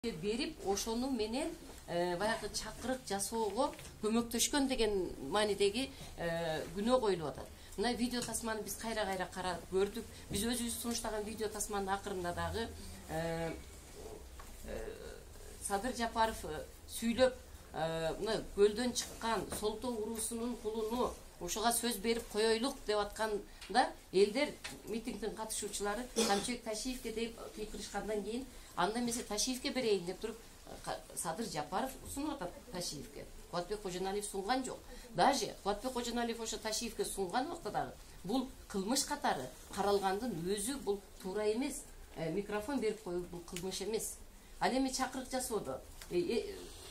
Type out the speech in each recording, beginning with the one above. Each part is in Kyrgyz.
берип ошону менен баягы чакырык жасоого көмөктөшкөн деген маанидеги күнөө коюлуп атат. Мына видео тасманы биз кайра карап көрдүк. Биз өзүбүз сунуштаган видео тасманын акырында дагы Садыр Жапаров сүйлөп, мына көлдөн чыккан Солтоо уруусунун кулуну ошого сөз берип коёйлук деп атканда элдер, митингдин катышуучулары Камчыбек Ташиевке деп кыйкырышкандан кийин анда эмесе Ташиевке берейин деп туруп Садыр Жапаров сунуп атат Ташиевке. Кубатбек Кожоналиев сунган жок. Даже Кубатбек Кожоналиев ошо Ташиевке сунган убакта дагы бул кылмыш катары каралгандын өзү бул туура эмес. Микрофон берип коюу бул кылмыш эмес. Ал эми чакырык жасоодо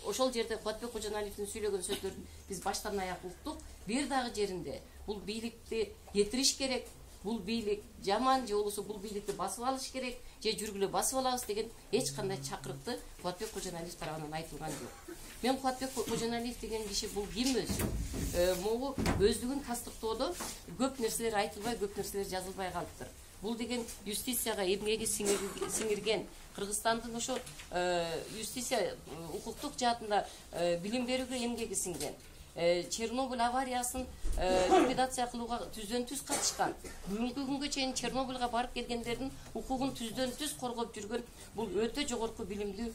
ошол жерде Кубатбек Кожоналиевдин сүйлөгөн сөздөрүн биз баштан аяк уктук. Бир дагы жеринде бул бийликти кетириш керек, бул бийлик жаман же болбосо бул бийликти басып алыш керек, же жүргүлө басып алабыз деген эч кандай чакырыкты Кубатбек Кожоналиев тарабынан айтылган жок. Мен Кубатбек Кожоналиев деген киши бул ким өзү? Могу өздүгүн тастыктоодо көп нерселер айтылбай, көп нерселер жазылбай калыптыр. Бул деген юстицияга эмгеги сиңирген, Кыргызстандын ошо юстиция укуктук жаатында билим берүүгө эмгеги сиңген. Чернобыль авариясын ликвидация кылууга түздөн түз катышкан. Бүгүнкү күнгө чейин Чернобыльга барып келгендердин укугун түздөн түз коргоп жүргөн бул өтө жогорку билимдүү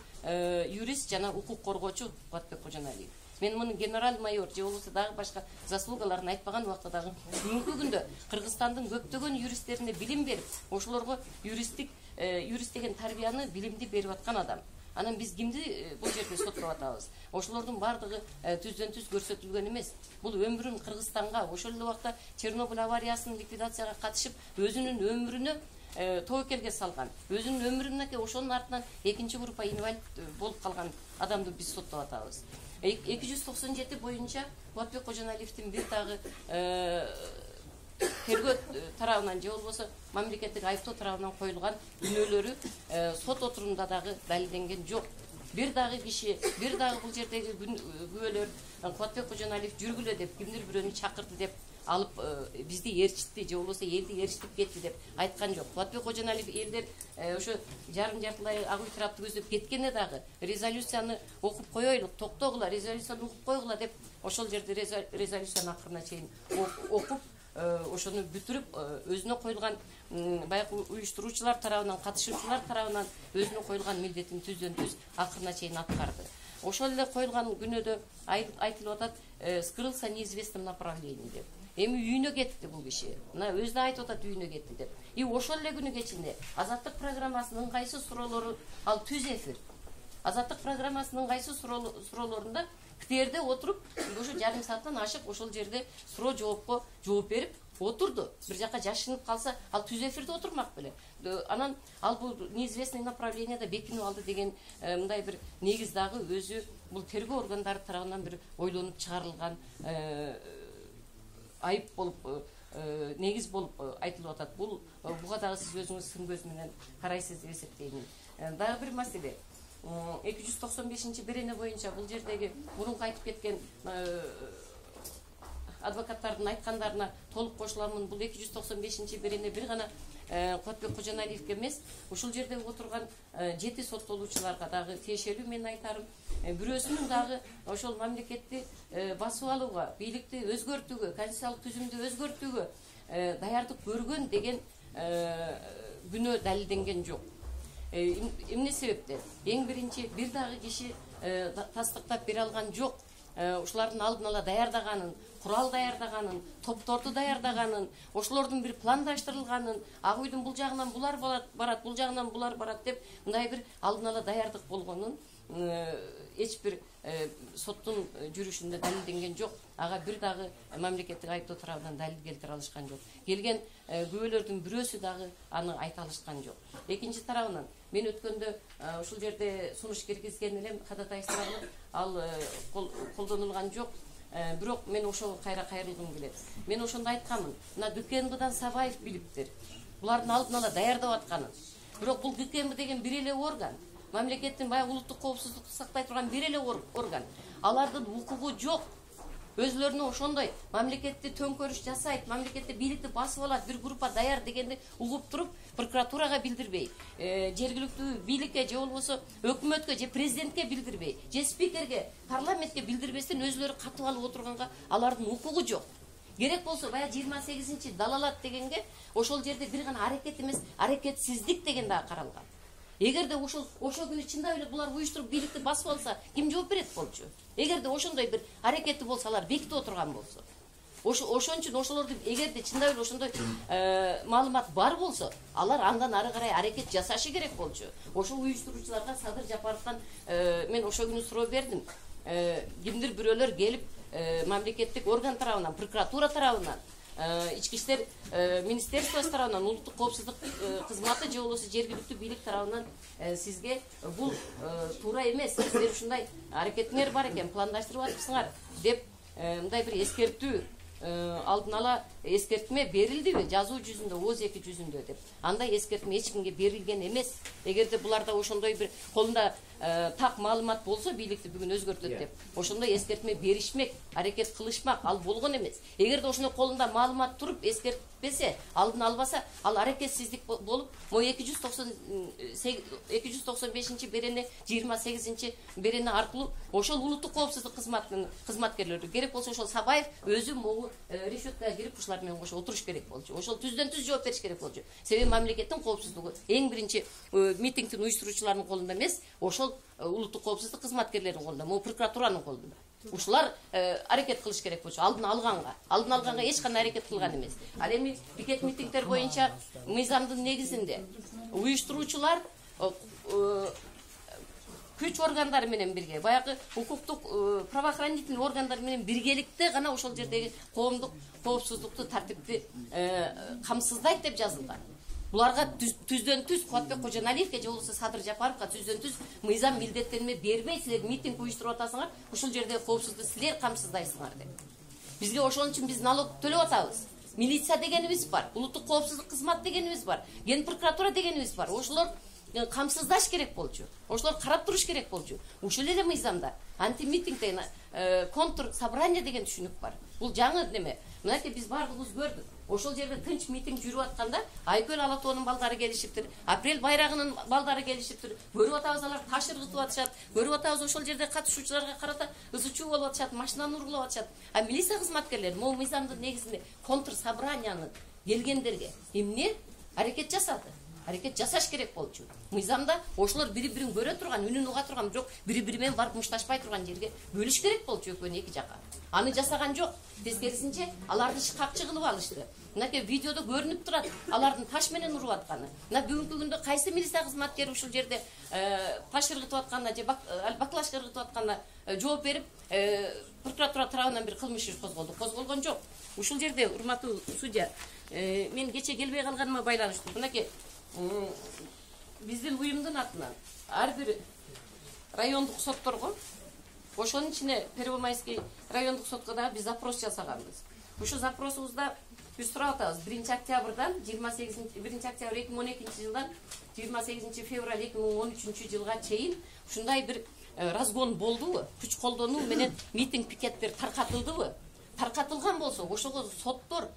юрист жана укук коргоочу Кубатбек Кожоналиев. Мен муну генерал майор же болбосо дагы башка заслугаларын айтпаган убакта дагы бүгүнкү күндө Кыргызстандын көптөгөн юристтерине билим берип, ошолорго юрист деген тарбияны, билимди берип аткан адам. Анан биз кимди бул жерде соттоп атабыз? Ошолордун бардыгы түздөн түз көрсөтүлгөн эмес. Бул өмүрүн Кыргызстанга, ошол эле убакта Чернобыль авариясынын ликвидацияга катышып, өзүнүн өмүрүнө тобокелге салган. Өзүнүн өмүрүнөн ошонун артынан экинчи группа инвалид болуп калган адамды биз соттоп атабыз. 297 боюнча Кубатбек Кожоналиевдин бир дагы тергөө тарабынан же болбосо мамлекеттик айыптоо тарабынан коюлган күнөөлөрү сот отурумунда дагы далилденген жок. Бир дагы киши, бир дагы бул жердеги күбөлөр Кубатбек Кожоналиев жүргүлө деп кимдир бирөөнү чакырды деп алып бизди ээрчитти же болбосо элди ээрчитип кетти деп айткан жок. Кубатбек Кожоналиев элдер ошо жарым-жартылай ак үй тарапты көздөп кеткенде дагы резолюцияны окуп коёйлук, токтогула, резолюцияны окуп койгула деп ошол жерде резолюцияны акырына чейин окуп ошону бүтүрүп өзүнө коюлган баягы уюштуруучулар тарабынан, катышуучулар тарабынан өзүнө коюлган милдетин түздөн түз акырына чейин аткарды. Ошол эле коюлган күнөөдө айтылып атат, скрылся в неизвестном направлении деп. Эми үйүнө кетти бул киши. Мына өзү да айтып атат үйүнө кетти деп. И ошол эле күнү кечинде Азаттык программасынын кайсы суроолору ал түз эфир. Азаттык программасынын кайсы суроолорунда КТРде отуруп, ошо жарым сааттан ашык ошол жерде суроо жоопко жооп берип отурду. Бир жака жашынып калса, ал түз эфирде отурмак беле. Анан ал бул неизвестный направленияда бекинип алды деген мындай бир негиз дагы өзү бул тергөө органдары тарабынан бир ойлонуп чыгарылган айып болуп, негиз болуп айтылып атат. Буга дагы сиз өзүңүз сын көз менен карайсыз деп эсептеймин. Дагы бир маселе. 295 берене боюнча бул жердеги мурунку айтып кеткен адвокаттардын айткандарына толук кошуламын. Бул 295 берене бир гана Кубатбек Кожоналиевке эмес, ушул жерде отурган 7 соттолуучуларга дагы тиешелүү менин айтарым. Бирөөсүнүн дагы ошол мамлекетти басып алууга, бийликти өзгөртүүгө, конституциялык түзүмдү өзгөртүүгө даярдык көргөн деген күнөө далилденген жок. Эмне себептен? Эң биринчи бир дагы киши тастыктап бере алган жок. Ушулардын алдын ала даярдаганын, курал даярдаганын, топторду даярдаганын, ошолордун бир пландаштырылганын, ак үйдүн бул жагынан булар барат, бул жагынан булар барат деп мындай бир алдын ала даярдык болгонун эч бир соттун жүрүшүндө далилденген жок. Ага бир дагы мамлекеттик айыптоо тарабынан далил келтире алышкан жок. Келген күбөлөрдүн бирөөсү дагы аны айта алышкан жок. Экинчи тарабынан мен өткөндө ушул жерде сунуш киргизген элем, кадатайсырагы ал колдонулган жок. Бирок мен ошого кайрылгым келет. Мен ошондо айтканмын. Мына ГКМБдан Сабаев билиптир. Булардын алдын ала даярдап атканын. Бирок бул ГКМБ деген бир эле орган. Мамлекеттин баягы улуттук коопсуздукту сактай турган бир эле орган. Алардын укугу жок. өзлөрүнө ошондой мамлекетти төңкөрүш жасайт, мамлекетти бийликти басып алат, бир группа даяр дегенди угуп туруп, прокуратурага билдирбей, жергиликтүү бийликке же болбосо өкмөткө же президентке билдирбей, же спикерге, парламентке билдирбестен өзлөрү катып алып отурганга алардын укугу жок. Керек болсо баягы 28 далалат дегенге ошол жерде бир гана аракет эмес, аракетсиздик деген дагы каралган. Эгерде ошол күнү чындап эле булар уюштуруп бийликти басып алса, ким жооп берет болчу? Эгерде ошондой бир аракети болсо, алар бекитип отурган болсо. Ошон үчүн ошолорду эгерде чындап эле ошондой маалымат бар болсо, алар андан ары карай аракет жасашы керек болчу. Ошол уюштуруучуларга Садыр Жапаровдон мен ошол күнү суроо бердим. Кимдир бирөөлөр келип мамлекеттик орган тарабынан, прокуратура тарабынан, ички иштер министерствосу тарабынан, улуттук коопсуздук кызматы же болбосо жергиликтүү бийлик тарабынан сизге бул туура эмес, сиздер ушундай аракетиңер бар экен, пландаштырып атыпсыңар деп мындай бир эскертүү, алдын ала эскертме берилдиби жазуу жүзүндө, ооз 2 жүзүндө деп. Андай эскертме эч кимге берилген эмес. Эгерде буларда ошондой бир колунда так маалымат болсо, бийликти бүгүн өзгөртөт деп, ошондой эскертме беришмек, аракет кылышмак, ал болгон эмес. Эгерде ошондой колунда маалымат туруп эскертпесе, алдын албаса, ал аракетсиздик болуп, мо 295 берене, 28 берене аркылуу ошол улуттук коопсуздук кызматынын кызматкерлери, керек болсо ошол Сабаев өзү могу решеткага кирип ушулар менен кошо отуруш керек болчу. Ошол түздөн түз жооп бериш керек болчу. Себеби мамлекеттин коопсуздугу эң биринчи митингдин уюштуруучуларынын колунда эмес, ошол улуттук коопсуздук кызматкерлеринин колунда, могу прокуратуранын колунда. Ушулар аракет кылыш керек болчу, алдын алганга эч кандай аракет кылган эмес. Ал эми пикет митингдер боюнча мыйзамдын негизинде уюштуруучулар күч органдары менен бирге, баягы укуктук правоохранительный органдар менен биргеликте гана ошол жердеги коомдук коопсуздукту, тартипти камсыздайт деп жазылган. Буларга түздөн түз Кубатбек Кожоналиевке же болбосо Садыр Жапаровго түздөн түз мыйзам милдеттенме бербей, силер митинг уюштуруп атасыңар, ушул жерде коопсуздукту силер камсыздайсыңар деп. Бизге ошон үчүн биз налог төлөп атабыз. Милиция дегенибиз бар, улуттук коопсуздук кызмат дегенибиз бар, ген прокуратура дегенибиз бар. Ошолор камсыздаш керек болчу. Ошолор карап туруш керек болчу. Ушул эле мыйзамда антимитинг деген контур собрание деген түшүнүк бар. Бул жаңы неме. Мынакей биз бардыгыбыз көрдүк. Ошол жерде тынч митинг жүрүп атканда Айкөл Алатоонун балдары келишиптир, Апрель байрагынын балдары келишиптир. Көрүп атабыз, алар таш ыргытып атышат. Көрүп атабыз, ошол жерде катышуучуларга карата ызы чуу болуп атышат, машинаны уругулап атышат. А милиция кызматкерлери могу мыйзамдын негизинде контр собранияны келгендерге эмне аракет жасады? Аракет жасаш керек болчу. Мыйзамда ошолор бири-бирин көрө турган, үнүн уга турган, бирок бири-бири менен барып мушташпай турган жерге бөлүш керек болчу экөөнү эки жака. Аны жасаган жок. Тескерисинче аларды шкапчы кылып алышты. Мынакей видеодо көрүнүп турат, алардын таш менен уруп атканы. Мына бүгүнкү күндө кайсы милиция кызматкери ушул жерде таш ыргытып атканына же баклажка ыргытып атканына жооп берип, прокуратура тарабынан бир кылмыш иш козголгон жок. Ушул жерде урматтуу судья, мен кече келбей калганыма байланыштуу. Мынакей биздин уюмдун атынан ар бир райондук сотторго, ошонун ичине Первомайский райондук сотко дагы биз запрос жасаганбыз. Ушул запросубузда биз сурап атабыз. 1 октябрдан 1 октябрь 2012 жылдан 28 февраль 2013 жылга чейин ушундай бир разгон болдубу? Күч колдонуу менен митинг пикеттер таркатылдыбы? Таркатылган болсо, ошого соттор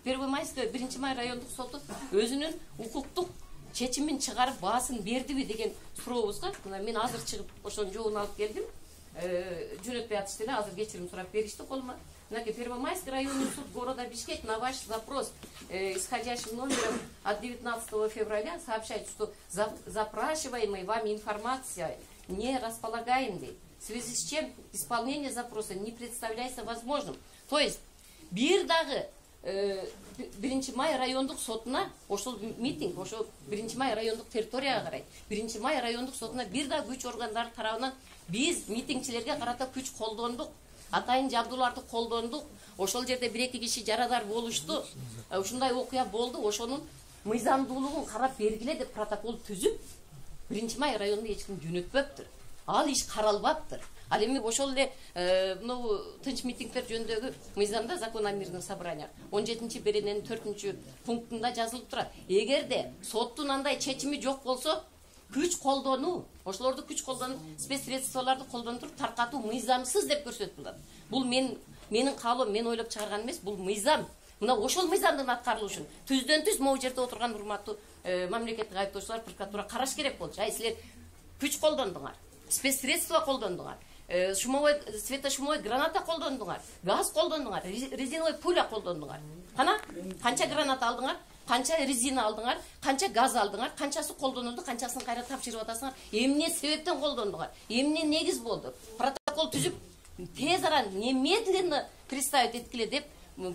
Первомайский 1 май райондук соту өзүнүн укуктук чечимин чыгарып баасын бердиби деген сурообузга, мына мен азыр чыгып ошонун жообун алып келдим. Жөнөтпөй атышты эле, азыр кечирим сурап беришти колума. Мынакей Первомайский районный суд города Бишкек на ваш запрос исходящим номером от 19 февраля сообщает, что запрашиваемая вами информация не располагаемой, в связи с чем исполнение запроса не представляется возможным. То есть бир дагы 1 май райондук сотуна ошол митинг, ошол 1 май райондук территорияга карайт. 1 май райондук сотуна бир да күч органдары тарабынан биз митингчилерге карата күч колдондук, атайын жабдууларды колдондук. Ошол жерде 1-2 киши жарадар болушту. Ушундай окуя болду. Ошонун мыйзамдуулугун карап бергиле деп протокол түзүп, 1 май районунда эч ким жөнөтпөптүр. Ал иш каралбаптыр. Ал эми ошол эле мына тынч митингдер жөнүндөгү мыйзамда закон о мирных собраниях 17 берененин 4 пунктунда жазылып турат. Эгерде соттун андай чечими жок болсо, күч колдонуу, ошолорду күч колдонуп, спецсредстволорду колдонуп таркатуу мыйзамсыз деп көрсөтүлөт. Бул менин каалоом, мен ойлоп чыгарган эмес, бул мыйзам. Мына ошол мыйзамдын аткарылышын түздөн түз могу жерде отурган урматтуу мамлекеттик айыптоочулар, прокуратура караш керек болчу. Ай силер күч колдондуңар, спецсредство колдондуңар, светошумовой граната колдондуңар, газ колдондуңар, резиновый пуля колдондуңар. Кана канча граната алдыңар, канча резина алдыңар, канча газ алдыңар, канчасы колдонулду, канчасын кайра тапшырып атасыңар. Эмне себептен колдондуңар? Эмне негиз болду? Протокол түзүп, тез арада немедленно представить эткиле деп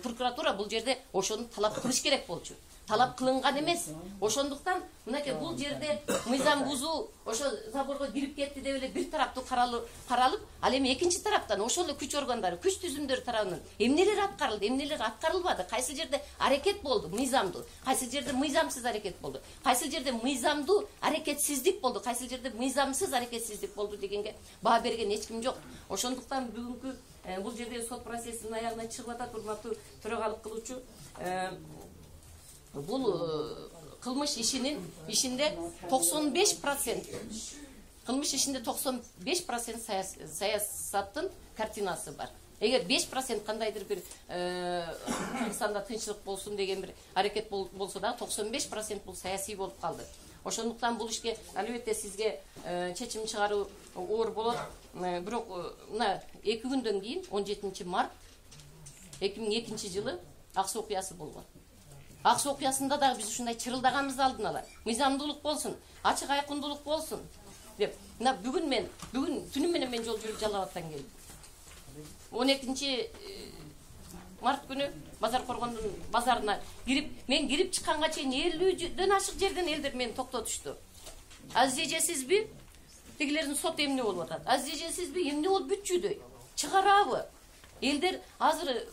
прокуратура бул жерде ошону талап кылыш керек болчу. Талап кылынган эмес. Ошондуктан мынакей бул жерде мыйзам бузуу ошо заборго кирип кетти деп эле бир тараптуу каралып, ал эми экинчи тараптан ошол эле күч органдары, күч түзүмдөр тарабынан эмнелер аткарылды, эмнелер аткарылбады, кайсы жерде аракет болду мыйзамдуу, кайсы жерде мыйзамсыз аракет болду, кайсы жерде мыйзамдуу аракетсиздик болду, кайсы жерде мыйзамсыз аракетсиздик болду дегенге баа берген эч ким жок. Ошондуктан бүгүнкү бул жерде сот процессинин аягына чыгып атат, урматтуу төрагалык кылуучу. Бул кылмыш ишинде 95% кылмыш ишинде 95% саясаттын картинасы бар. Эгер 5% кандайдыр бир Кыргызстанда тынччылык болсун деген бир аракет болсо да 95% бул саясий болуп калды. Ошондуктан бул ишке албетте сизге чечим чыгаруу оор болот. Бирок мына 2 күндөн кийин 17 март 2002 жылы Ак Суу окуясы болгон. Ак Суу окуясында дагы биз ушундай чырылдаганыбызды алдын ала. Мыйзамдуулук болсун, ачык айкындуулук болсун деп. Мына бүгүн түнү менен мен жол жүрүп Жалал Абадтан келдим. 12 март күнү Базар Коргондун базарына мен кирип чыкканга чейин 50дөн ашык жерден элдер мени токтотушту. Азиз эжесизби? Тигилердин сот эмне болуп атат? Азиз эжесизби? Эмне болуп бүтчүдөй? Чыгарабы? Элдер азыр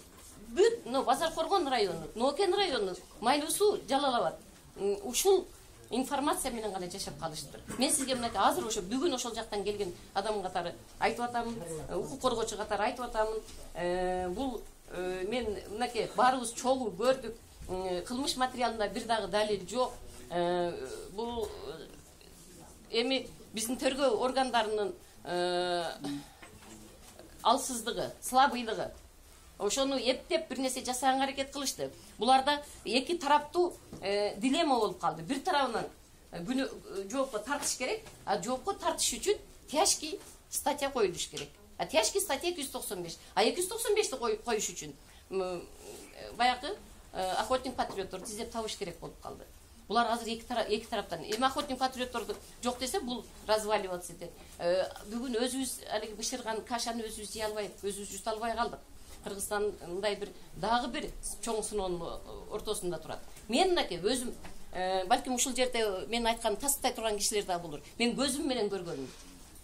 бүт Базар Коргон району, Нокен району, Майлуу суу, Жалал Абад ушул информация менен гана жашап калыштыр. Мен сизге мынакей азыр ошо бүгүн ошол жактан келген адам катары айтып атамын, укук коргоочу катары айтып атамын. Бул мен мынакей баарыбыз чогуу көрдүк. Кылмыш материалында бир дагы далил жок. Бул эми биздин тергөө органдарынын алсыздыгы, слабыйлыгы. Ошону эптеп бир нерсе жасаганга аракет кылышты. Буларда эки тараптуу дилемма болуп калды. Бир тарабынан күнү жоопко тартыш керек, а жоопко тартыш үчүн тяжкий статья коюлуш керек. А тяжкий статья 295. А 295-ти коюш үчүн баягы охотник патриотторду издеп табыш керек болуп калды. Булар азыр эки тараптан. Эми охотник патриотторду жок десе бул разваливаться этет. Бүгүн өзүбүз алиги бышырган кашаны өзүбүз жей албай, өзүбүз жута албай калдык. Кыргызстан мындай дагы бир чоң сыноонун ортосунда турат. Мен мынакей өзүм балким ушул жерде мен айткан тастытай турган кишилер да болор. Мен көзүм менен көргөнүм.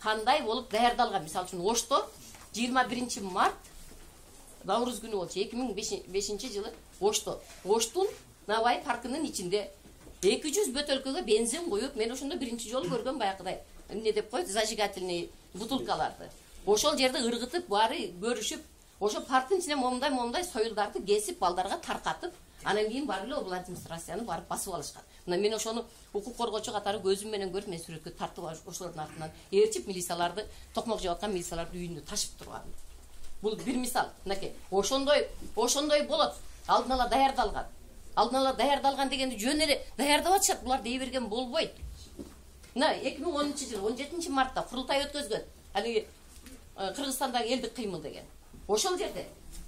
Кандай болуп даярдалган? Мисалы үчүн Ошто 21 март Наурыз күнү болчу 2005 жылы Оштун Навай паркынын ичинде 200 бөтөлкөгө бензин коюп, мен ошондо биринчи жолу көргөм баягыдай. Эмне деп коет? Зажигательный бутылкаларды. Ошол жерде ыргытып, баары көрүшүп, ошо парктын ичине момундай союлдарды кесип, балдарга таркатып, анан кийин барып эле облат администрацияны барып басып алышкан. Мына мен ошону укук коргоочу катары көзүм менен көрүп, мен сүрөткө тартып ошолордун артынан ээрчип, милицияларды, токмок жеп аткан милицияларды үйүнө ташып турган. Бул бир мисал. Мынакей, ошондой болот. Алдын ала даярдалган. Алдын ала даярдалган дегенди жөн эле даярдап атышат. Булар дей берген болбойт. Мына 2010 жылы 17 мартта курултай өткөзгөн. Али Кыргызстандагы элдик кыймыл деген. Ошол жерде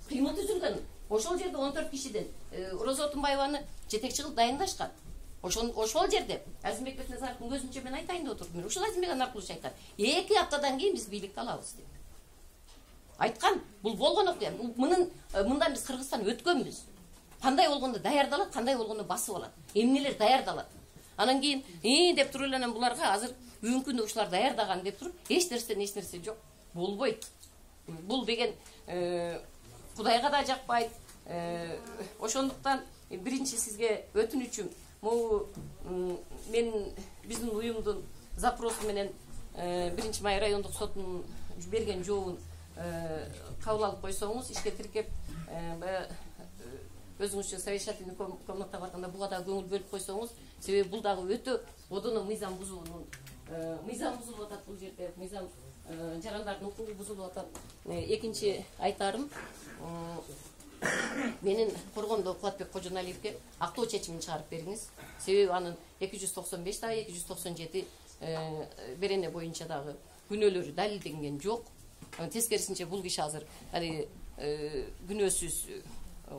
кыймыл түзүлгөн. Ошол жерде 14 кишиден Роза Отунбаеваны жетекчи кылып дайындашкан. Ошол жерде Азимбек Бекназаровдун көзүнчө мен айтайын деп отурдум. Ушул Азимбек Анаркулович айткан. 2 аптадан кийин биз бийликти алабыз деп. Айткан, бул болгон окуя. Мындан биз Кыргызстан өткөнбүз. Кандай болгондо даярдалат, кандай болгондо басып алат. Эмнелер даярдалат. Анан кийин деп туруп эле буларга азыр бүгүнкү күндө ушулар даярдаган деп туруп, эч нерсе жок. Болбойт. Бул деген Кудайга да жакпайт. Ошондуктан биринчи сизге өтүнүчүм, могу биздин уюмдун запросу менен 1-Май райондук сотунун берген жообун кабыл алып койсоңуз, ишке тиркеп өзүңүзчө совещательный комнатага барганда буга да көңүл бөлүп койсоңуз, себеби бул дагы өтө одоно мыйзам бузуунун мыйзам бузулуп атат бул жерде. Мыйзам жарандардын укугу бузулуп атат. Экинчи айтарым, менин Коргондо Кубатбек Кожоналиевке актоо чечимин чыгарып бериңиз. Себеби анын 295 да 297 берене боюнча дагы күнөөлөрү далилденген жок. Тескерисинче бул киши азыр күнөөсүз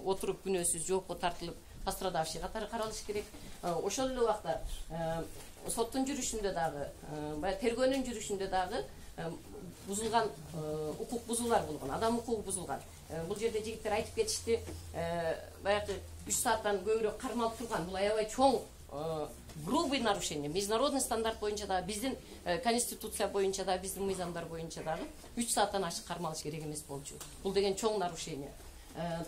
отуруп, күнөөсүз жоопко тартылып, пострадавший катары каралышы керек. Ошол эле убакта соттун жүрүшүндө дагы, баягы тергөөнүн жүрүшүндө дагы бузулган укук бузуулар болгон, адам укугу бузулган. Бул жерде жигиттер айтып кетишти, баягы 3 сааттан көбүрөөк кармалып турган. Бул аябай чоң грубый нарушение. Международный стандарт боюнча дагы, биздин конституция боюнча дагы, биздин мыйзамдар боюнча дагы 3 сааттан ашык кармалыш керек эмес болчу. Бул деген чоң нарушение.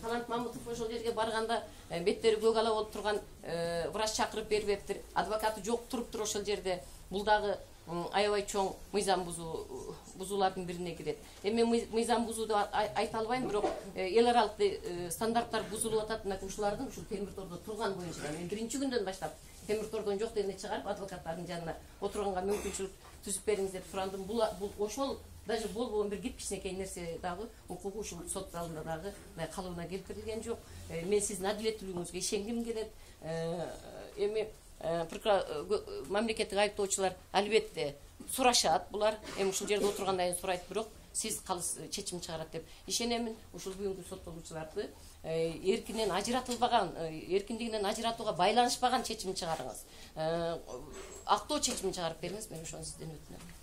Талант Мамутов ошол жерге барганда беттери көк ала болуп турган врач чакырып бербептир. Адвокаты жок туруптур ошол жерде. Бул дагы аябай чоң мыйзам бузуулардын бирине кирет. Эми мыйзам бузууду айта албайм, бирок эл аралык стандарттар бузулуп атат. Ушулардын ушул темир тордо турган боюнча мен биринчи күндөн баштап темир тордон жок дегенде чыгарып адвокаттардын жанына отурганга мүмкүнчүлүк түзүп бериңиз деп сурандым. Бул ошол даже болбогон бир кичинекей нерсе дагы укугу ушул сот залында дагы калыбына келтирилген жок. Мен сиздин адилеттүүлүгүңүзгө ишенгим келет. Эми мамлекеттик айыптоочулар албетте сурашат, булар эми ушул жерде отургандан кийин сурайт, бирок сиз калыс чечим чыгарат деп ишенемин. Ушул бүгүнкү соттолуучуларды эркинен ажыратылбаган, эркиндигинен ажыратууга байланышпаган чечим чыгарыңыз. Актоо чечимин чыгарып бериңиз, мен ошону сизден өтүнөм.